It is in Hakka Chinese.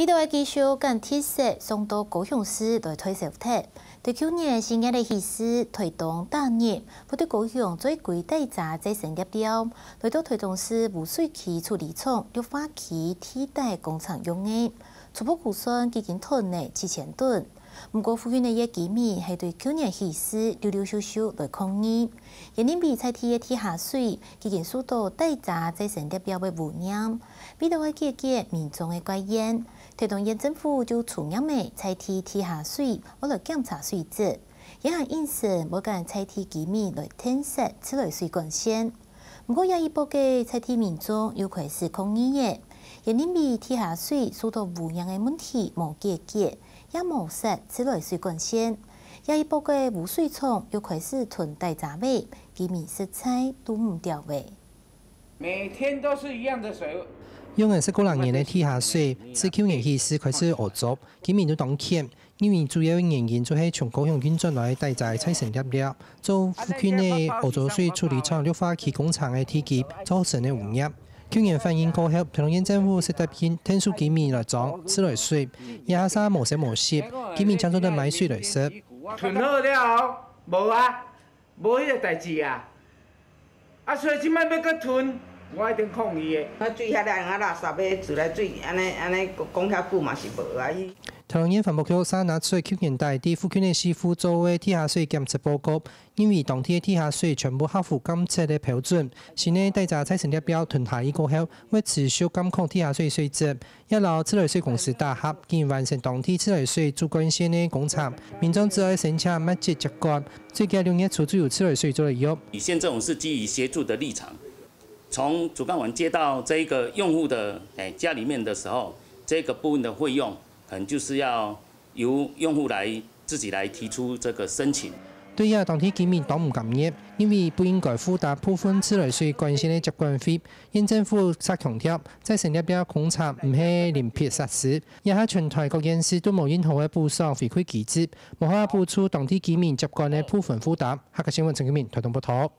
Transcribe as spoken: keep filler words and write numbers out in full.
味道个繼續將特色送到高雄市來推銷忒。對舊年四月个起始，台東大熱，會對高雄最貴大閘再生粒料，來到台東市污水區處理廠綠化區地底工廠用个，初步估算已經囤了七千噸。毋過附近个一居民係對舊年起始陸陸續續來抗議，也認為在地个地下水已經受到大閘再生粒料个污染， 為了愛解決民眾个戒菸，台東縣政府就出嚴个在地地下水愛來檢查水質，也還應承會將在地居民來𢯭設自來水管線。毋過這一駁个在地民眾又開始抗議了，也認為地下水受到污染个問題無解決，也無設自來水管線。這一駁个污水廠又開始囤大閘仔，居民實在堵毋牢了。 每天都是一樣的水。用了十過零年个地下水，自舊年起始開始屙糟，居民都當譴。因為主要个原因就係從高雄運轉來个大閘再生粒料，做附近个屙糟水處理廠綠化區工廠个地基造成个污染。舊年反映過後，桃園縣政府就答應𢯭手居民來裝自來水，這下煞無聲無息，居民正做得買水來食。囤好了，無啊。 無彼个代誌啊。啊，所以這擺欲閣囤，我一定抗議的。啊，水遐个用啊垃圾个自來水，安尼安尼講遐久嘛是無啊。桃園環保局煞拿出舊年底佇附近个市府做个地下水檢測報告，認為當地个地下水全部合乎監測个標準，新个大閘再生粒料囤下去過後，會持續監控地下水水質。 也摎自來水公司打合，已經完成當地自來水主管線个工程，民眾只愛申請密集接管，最快六月初就有自來水做得用。以縣政府是基於協助的立場，從主幹員接到這一個用戶的誒家裡面的時候，這個部分的費用可能就是要由用戶來自己來提出這個申請。 對這當地居民當毋甘願，因為不應該負擔部分自來水管線个接管費。縣政府煞強調，再生粒料工程毋係另闢設施，這下全台各縣市都無任何个補償回饋機制，無法補助當地居民接管个部分負擔。客家新聞陳金明台東報導。